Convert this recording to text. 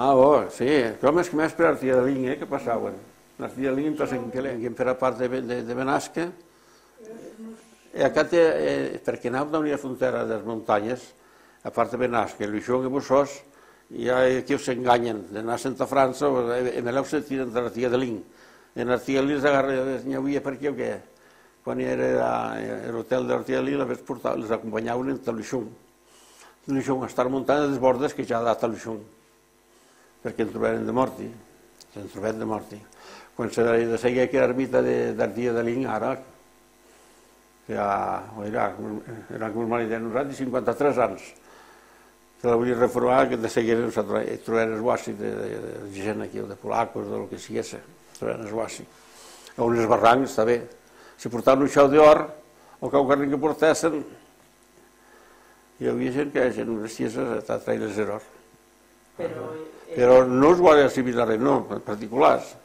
Ah, oh, sí, com és que més per Artia de Linha, que passaven. Artia de Linha, entonces, en per a part de Benasca, i acá perquè anàvem d'unir la frontera de les muntanyes, a part de Benasca, Luixó i Bussós, i aquí s'enganyen d'anar a Santa França, en allò se tiren de l'Artia de Linha. En l'Artia de Linha n'hi havia per aquí o què? Quan era l'hotel de l'Artia de Linha, les acompanyaven en Luixó. Luixó, a estar muntant les bordes que ja ha dat a Luixó, perquè en trobaren de morti, s'han trobat de morti. Quan se de seguir aquella ermita d'Artia de Linha, ara, que era com el marit de nosaltres, 53 anys, que la volia reformar, que de seguida trobaren el guàssi de gent aquí, de polacos, del que sigués, trobaren el guàssi. A uns barrancs, està bé. Si portaven un xau d'or, o qualsevol que portessin, hi havia gent que eren unes cieses a traire l'or. Però no els guàrdies civils, no, particulars.